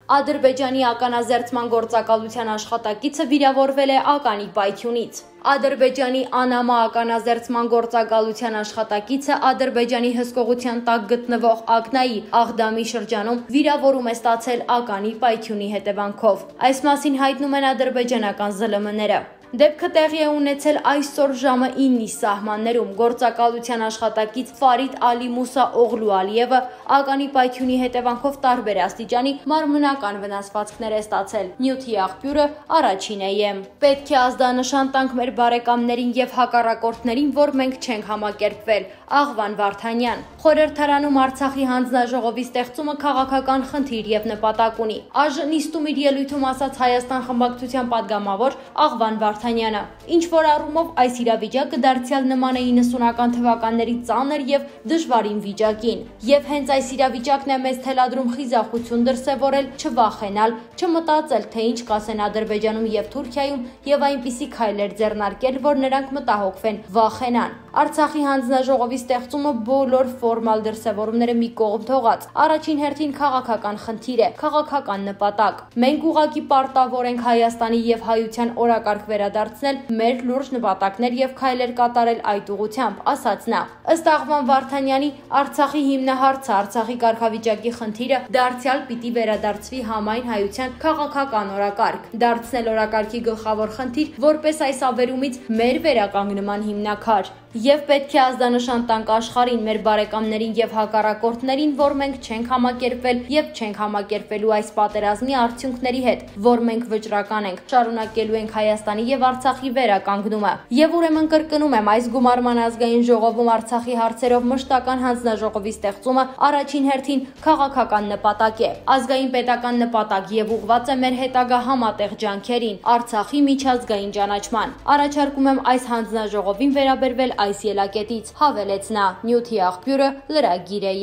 Ադրբեջանի ականազերծման գործակալության աշխատակիցը վիրավորվել է ականի պայթյունից։ Ադրբեջանի Անամա ականազերծման գործակալության աշխատակիցը Ադրբեջանի հսկողության տակ գտնվող Ակնայի Աղդամի շրջանում վիրավորում է ստացել ականի պայթյունի հետևանքով։ Այս մասին հայտնում են ադրբեջանական ԶԼՄ-ները։ Դեպքը տեղի է ունեցել այսօր ժամը 9-ի սահմաններում։ Գործակալության աշխատակից Ֆարիդ Ալի Մուսա Օղլու Ալիևը ականի պայթյունի հետևանքով տարբեր աստիճանի մարմնական վնասվածքներ է ստացել։ Նյութի աղբյուրը առաջին է։ Պետք է ազդանշան տանք մեր բարեկամներին եւ հակառակորդներին, որ մենք չենք համակերպվել։ Աղվան Վարդանյան։ Խորհրդարանում Արցախի հանձնաժողովի ստեղծումը քաղաքական խնդիր եւ նպատակ ունի։ ԱԺ նիստում իր ելույթում ասաց Հայաստան խմբակցության падգամավոր Աղվան Վարդանյանը։ Ինչ որ առումով այս իրավիճակը դարձյալ նման է 90-ական թվականների ծանր եւ դժվարին վիճակին։ Եվ հենց այս իրավիճակն է մեզ թելադրում խիզախություն դրսևորել, չվախենալ, չմտածել, թե ինչ կասեն Ադրբեջանում եւ Թուրքիայում եւ այնպիսի քայլեր ձեռնարկել, որ նրանք մտահոգվեն, վախենան։ Արցախի հանձնաժողովի ստեղծումը բոլոր ֆորմալ դրսևորումները մի կողմ թողած, առաջին հերթին քաղաքական խնդիր է, քաղաքական նպատակ։ Մենք ուղղակի պարտավոր ենք Հայաստանի եւ հայության օրակարգ վերադարձնել, մեր լուրջ նպատակներ եւ քայլեր կատարել այդ ուղղությամբ, ասաց նա։ Ըստ Աղվան Վարդանյանի, Արցախի հիմնահարցը, Արցախի կարգավիճակի խնդիրը դարձյալ պիտի վերադարձվի համայն հայության քաղաքական օրակարգ, դարձնել օրակարգի գլխավոր խնդիր, որպես այս ավերումից մեր վերականգնման հիմնաքար։ Եվ պետք է ազդանշան տանք աշխարհին, մեր բարեկամներին եւ հակառակորդներին, որ մենք չենք համակերպվել եւ չենք համակերպվելու այս պատերազմի արդյունքների հետ, որ մենք վճռական ենք, շարունակելու ենք Հայաստանի եւ Արցախի վերականգնումը։ Եվ ուրեմն կրկնում եմ, այս գումարման ազգային ժողովում Արցախի հարցերով մշտական հանձնաժողովի ստեղծումը առաջին հերթին քաղաքական նպատակ է, ազգային պետական նպատակ եւ ուղղված է մեր հետագա համատեղ ջանքերին, Արցախի միջազգային ճանաչման։ Առաջարկում եմ այս հանձնաժողովին վերաբերվել այս ելակետից, հավելեց նա։ Նյութի աղբյուրը լրագիր է։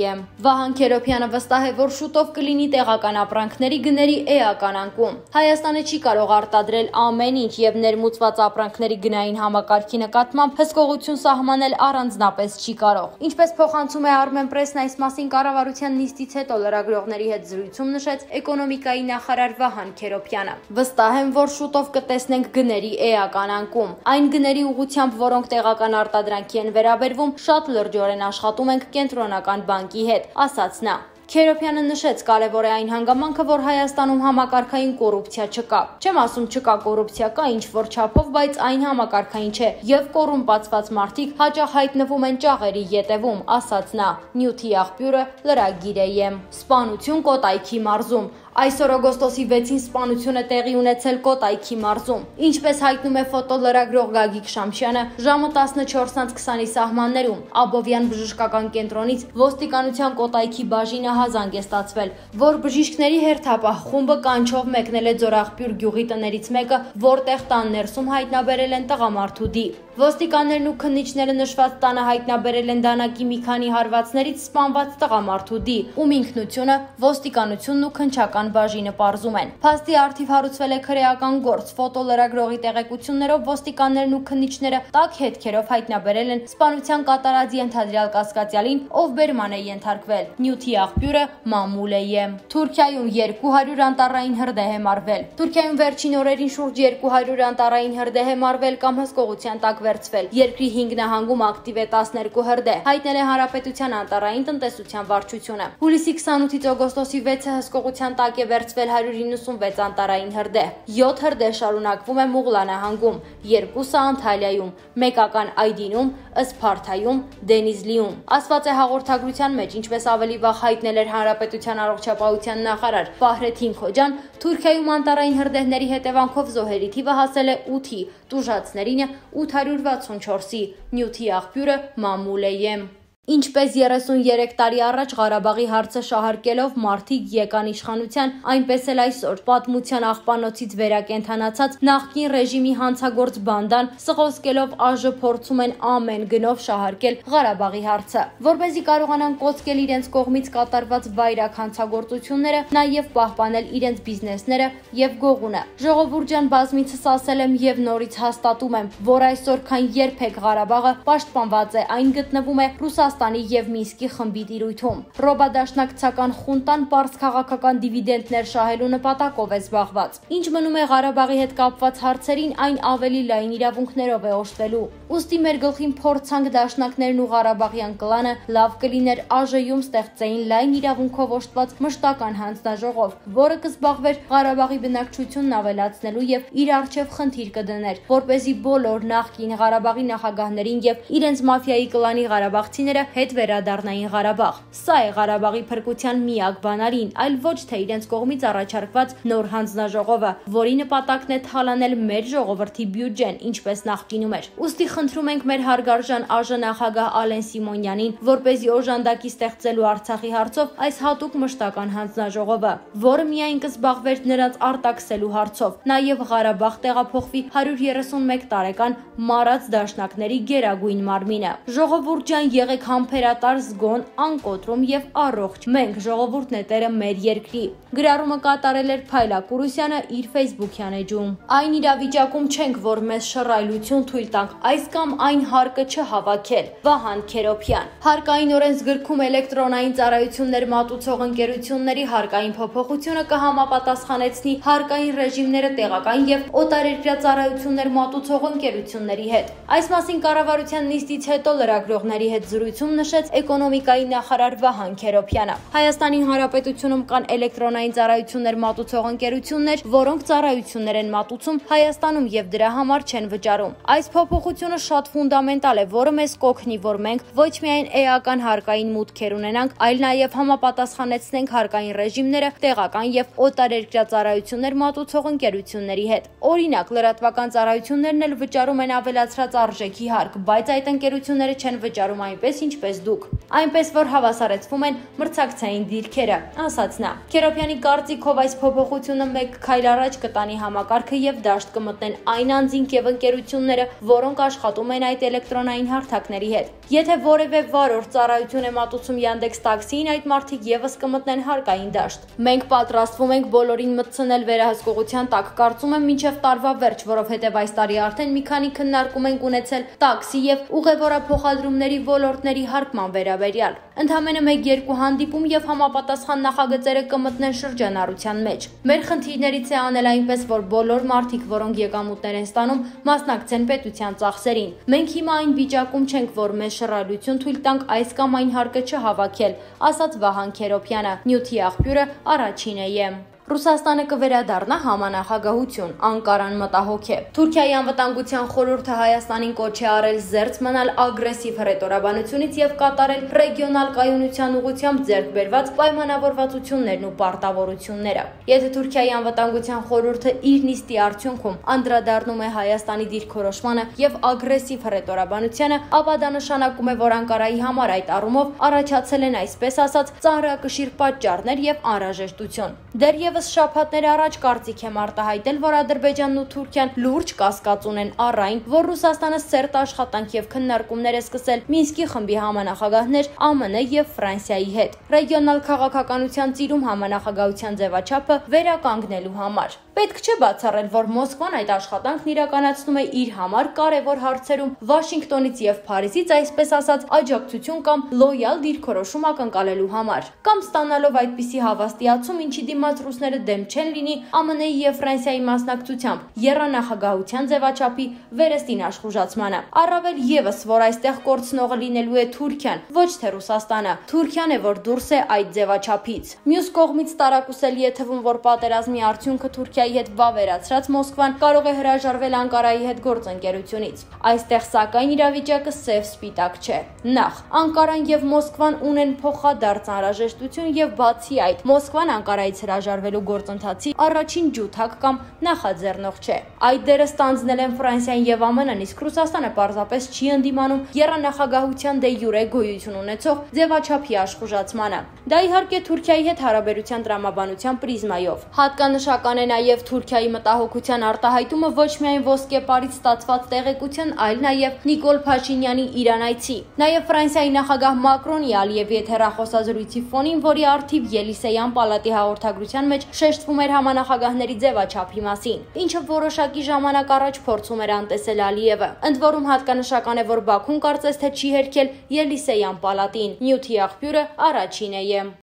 Վահան Քերոբյանը վստահ է, որ շուտով կլինի տեղական ապրանքների գների էական անկում։ Հայաստանը չի կարող արտադրել ամեն ինչ եւ ներմուծված ապրանքների գնային համակարգի նկատմամբ հսկողություն սահմանել առանձնապես չի կարող։ Ինչպես փոխանցում է Armenpress-ն, այս մասին կառավարության նիստից հետո լրագրողների հետ զրույցում նշեց էկոնոմիկայի նախարար Վահան Քերոբյանը։ Վստահ եմ, որ շուտով կտեսնենք գների էական անկում։ Այն գների ուղղությամբ, որոնք տեղական արտադրանքի են վերաբերվում, շատ լրջորեն աշխատում ենք կենտրոնական բանկի հետ, ասաց նա։ Քերոբյանը նշեց, կարևոր է այն հանգամանքը, որ Հայաստանում համակարգային կոռուպցիա չկա։ Չեմ ասում չկա կոռուպցիա, կա ինչ-որ չափով, բայց այն համակարգային չէ, եւ կոռումպացված մարդիկ հաճախ հայտնվում են ճաղերի ետևում, ասաց նա։ Նյութի աղբյուրը լրագիր է։ Սպանություն Կոտայքի մարզում։ Այսօր օգոստոսի 6-ին սպանությունը տեղի ունեցել Կոտայքի մարզում։ Ինչպես հայտնում է ֆոտոլրագրող Գագիկ Շամշյանը, ժամը 14:20-ի սահմաններում Աբովյան բժշկական կենտրոնից ոստիկանության Կոտայքի բաժինը հազանգ է ստացվել, որ բժիշկների հերթապահ խումբը կանչով մեկնել է Ձորաղբյուր գյուղի տներից մեկը, որտեղ տան ներսում հայտնաբերել են տղամարդու դի։ Ոստիկաններն ու քննիչները նշված տանը հայտնաբերել են դանակի մի քանի հարվածներից սպանված տղամարդու դի, ում ինքնությունը ոստիկանությունն ու քննչական բաժինը պարզում են։ Փաստի արդիվ հարուցվել է քրեական գործ, ֆոտոլրագրողի տեղեկություններով ոստիկաններն ու քննիչները տաք հետքերով հայտնաբերել են սպանության կատարած ենթադրյալ կասկածյալին, ով բերման է ենթարկվել։ Նյութի աղբյուրը մամուլ է։ Թուրքիայում 200 անտառային հրդեհ է մարվել։ Թուրքիայում վերջին օրերին շուրջ 200 անտառային հրդեհ է մարվել կամ հսկողության տակ վերցվել։ Երկրի 5 նահանգում ակտիվ է 12 հրդեհ, հայտնել է Հանրապետության անտառային տնտեսության վարչությունը։ Հուլիսի 28-ից օգոստոսի 6-ը հսկողության տակ է վերցվել 196 անտառային հրդեհ։ 7 հրդեհ շարունակվում է Մուղլա նահանգում, 2-ը Անտալիայում, մեկական Այդինում, Սփարթայում, Դենիզլիում։ Ասված է հաղորդագրության մեջ, ինչպես ավելի վաղ հայտնել էր Հանրապետության առողջապահության նախարար Ֆահրեթին Քոջան, Թուրքիայում անտառային հրդեհների հետևանքով զոհերի թիվը հասել է 8-ի, տուժածներինը 864-ի։ Նյութի աղբյուրը մամուլ է։ Ինչպես 33 տարի առաջ Ղարաբաղի հարցը շահարկելով մարդիկ եկան իշխանության, այնպես էլ այսօր պատմության աղբանոցից վերակենդանացած նախկին ռեժիմի հանցագործ բանդան սղոսկելով ԱԺ փորձում են ամեն գնով շահարկել Ղարաբաղի հարցը, որպեսզի կարողանան կոծկել իրենց կողմից կատարված վայրակ հանցագործությունները, նաև պահպանել իրենց բիզնեսները եւ գողունը։ Ժողովուրդ ջան, բազմիցս ասել եմ եւ նորից հաստատում եմ, որ այսօր քան երբեք Ղարաբաղը պաշտպանված է, այն գտնվում է Ռուսաստանի Ռուսաստանի եւ Մինսկի խմբի տիրույթում։ Ռոբադաշնակցական խունտան պարզ քաղաքական դիվիդենտներ շահելու նպատակով է զբաղված։ Ինչ մնում է Ղարաբաղի հետ կապված հարցերին, այն ավելի լայն իրավունքներով է օժտվելու։ Ուստի մեր գլխին փորձանք դաշնակներն ու Ղարաբաղյան կլանը լավ կլիներ ԱԺ-ում ստեղծեին լայն իրավունքով օժտված մշտական հանձնաժողով, որը կզբաղվեր Ղարաբաղի բնակչությունն ավելացնելու եւ իր առջեւ խնդիր կդներ, որպեսզի բոլոր նախկին Ղարաբաղի նախագահներին եւ իրենց մաֆիայի կլանի ղարաբաղցիները հետ վերադառնային Ղարաբաղ։ Սա է Ղարաբաղի փրկության միակ բանալին, այլ ոչ թե իրենց կողմից առաջարկված նոր հանձնաժողովը, որի նպատակն է թալանել մեր ժողովրդի բյուջեն, ինչպես նախկինում էր։ Ուստի խնդրում ենք մեր հարգարժան ԱԺ նախագահ Ալեն Սիմոնյանին, որպեսզի օժանդակի ստեղծելու Արցախի հարցով այս հատուկ մշտական հանձնաժողովը, որը միայն կզբաղվեր նրանց արտաքսելու հարցով, նաև Ղարաբաղ տեղափոխվի 131 տարեկան մարած դաշնակների գերագույն մարմինը։ Ժողովուրդ ջան, եղեք համբերատար, զգոն, անկոտրում եւ առողջ։ Մենք ժողովուրդն է տերը մեր երկրի։ Գրառումը կատարել էր Փայլակ Կուրուսյանը իր Facebook-յան էջում։ Այն իրավիճակում չենք, որ մեզ շռայլություն թույլ տանք այս կամ այն հարկը չհավաքել։ Վահան Քերոփյան։ Հարկային օրենսգրքում էլեկտրոնային ծառայություններ մատուցող ընկերությունների հարկային փոփոխությունը կհամապատասխանեցնի հարկային ռեժիմները տեղական եւ օտարերկրյա ծառայություններ մատուցող ընկերությունների հետ։ Այս մասին կառավարության նիստից հետո լրագրողների հետ զրույցում նշեց էկոնոմիկայի նախարար Վահան Քերոփյանը։ Հայաստանի Հանրապետությունում կան էլեկտրոնային ծառայություններ մատուցող ընկերություններ, որոնք ծառայություններ են մատուցում Հայաստանում եւ դրա համար չեն վճարում։ Այս փոփոխությունը շատ ֆունդամենտալ է, որը մեզ կօգնի, որ մենք ոչ միայն էական հարկային մուտքեր ունենանք, այլ նաեւ համապատասխանեցնենք հարկային ռեժիմները տեղական եւ օտարերկրյա ծառայություններ մատուցող ընկերությունների հետ։ Օրինակ, լրատվական ծառայություններն էլ վճարում են ավելացրած արժեքի հարկ, բայց այդ ընկերությունները չեն վճարում այնպես, ինչպես դուք։ Այնպես որ հավասարեցվում են մրցակցային դիրքերը, ասաց նա։ Քերոփյանի կարծիքով այս փոփոխությունը մեկ քայլ առաջ կտանի համակարգը եւ դաշտ կմտնեն այն անձինք եւ ընկերությունները, որոնք աշխատում են այդ էլեկտրոնային հարթակների հետ։ Եթե որևէ վարորդ ծառայություն է մատուցում Yandex Taxi-ին, այդ մարդիկ եւս կմտնեն հարկային դաշտ։ Մենք պատրաստվում ենք բոլորին մտցնել վերահսկողության տակ, կարծում եմ մինչեւ տարվա վերջ, որովհետեւ այս տարի արդեն մի քանի քննարկում ենք ունեցել տաքսի եւ ուղևորափոխադրումների ոլորտների հարկման վերաբերյալ։ Ընդամենը 1-2 հանդիպում եւ համապատասխան նախագծերը կմտնեն շրջանառության մեջ։ Մեր խնդիրներից է անել այնպես, որ բոլոր մարդիկ, որոնք եկամուտներ են ստանում, մասնակցեն պետության ծախսերին։ Մենք հիմա այն վիճակում չենք, որ մեզ շռայլություն թույլ տանք այս կամ այն հարկը չհավաքել, ասաց Վահան Քերոփյանը։ Նյութի աղբյուրը Առաջինը է։ Ռուսաստանը կվերադառնա համանախագահություն, Անկարան մտահոգ է։ Թուրքիայի անվտանգության խորհուրդը Հայաստանին կոչ է արել զերծ մնալ ագրեսիվ հռետորաբանությունից եւ կատարել ռեգիոնալ կայունության ուղղությամբ ձեռք բերված պայմանավորվածություններն ու պարտավորությունները։ Եթե Թուրքիայի անվտանգության խորհուրդը իր նիստի արդյունքում անդրադառնում է Հայաստանի դիրքորոշմանը եւ ագրեսիվ հռետորաբանությանը, ապա դա նշանակում է, որ Անկարայի համար այդ առումով առաջացել են այսպես ասած ծանրակշիռ պատճառներ եւ անհրաժեշտություն։ Դեռևս շաբաթներ առաջ կարծիք եմ արտահայտել, որ Ադրբեջանն ու Թուրքիան լուրջ կասկած ունեն առ այն, որ Ռուսաստանը սերտ աշխատանք եւ քննարկումներ է սկսել Մինսկի խմբի համանախագահներ ԱՄՆ եւ Ֆրանսիայի հետ ռեգիոնալ քաղաքականության ծիրում համանախագահության ձևաչափը վերականգնելու համար։ Պետք չէ բացառել, որ Մոսկվան այդ աշխատանքն իրականացնում է իր համար կարևոր հարցերում Վաշինգտոնից եւ Փարիզից այսպես ասած աջակցություն կամ լոյալ դիրքորոշում ակնկալելու համար, կամ ստանալով այդպիսի հավաստիացում, ինչի դիմաց ռուսները դեմ չեն լինի ԱՄՆ-ի եւ Ֆրանսիայի մասնակցությամբ եռանախագահության ձևաչափի վերստին աշխուժացմանը։ Առավել եւս, որ այստեղ կորցնողը լինելու է Թուրքիան, ոչ թե Ռուսաստանը։ Թուրքիան է, որ դուրս է այդ ձևաչափից։ Մյուս կողմից տարակուսելի է թվում, որ պատերազմի արդյունքը Թուրքիայի հետ վավերացրած Մոսկվան կարող է հրաժարվել Անկարայի հետ գործընկերությունից։ Այստեղ սակայն իրավիճակը սև սպիտակ չէ։ Նախ, Անկարան եւ Մոսկվան ունեն փոխադարձ անհրաժեշտություն եւ բացի այդ, Մոսկվան Անկարայից հրաժարվելու գործընթացի առաջին ջութակ կամ նախաձեռնող չէ։ Այդ դերը ստանձնել են Ֆրանսիան եւ ԱՄՆ-ն, իսկ Ռուսաստանը պարզապես չի ընդդիմանում եռանախագահության դե յուրե գոյություն ունեցող ձևաչափի աշխուժացմանը։ Դա իհարկե Թուրքիայի հետ հարաբերության տրամաբանության պրիզմայով։ Հատկանշական է նաեւ, եւ Թուրքիայի մտահոգության արտահայտումը ոչ միայն ոսկեպարից ստացված տեղեկության, այլ նաեւ Նիկոլ Փաշինյանի Իրանայցի, նաեւ Ֆրանսիայի նախագահ Մակրոնի Ալիևի հետ հեռախոսազրույցի ֆոնին, որի առթիվ Ելիսեյան պալատի հաղորդագրության մեջ շեշտվում էր համանախագահների ձևաչափի մասին, ինչը որոշակի ժամանակ առաջ փորձում էր անտեսել Ալիևը։ Ընդ որում հատկանշական է, որ Բաքուն կարծես թե չի հերքել Ելիսեյան պալատին։ Նյութի աղբյուրը Առաջին է։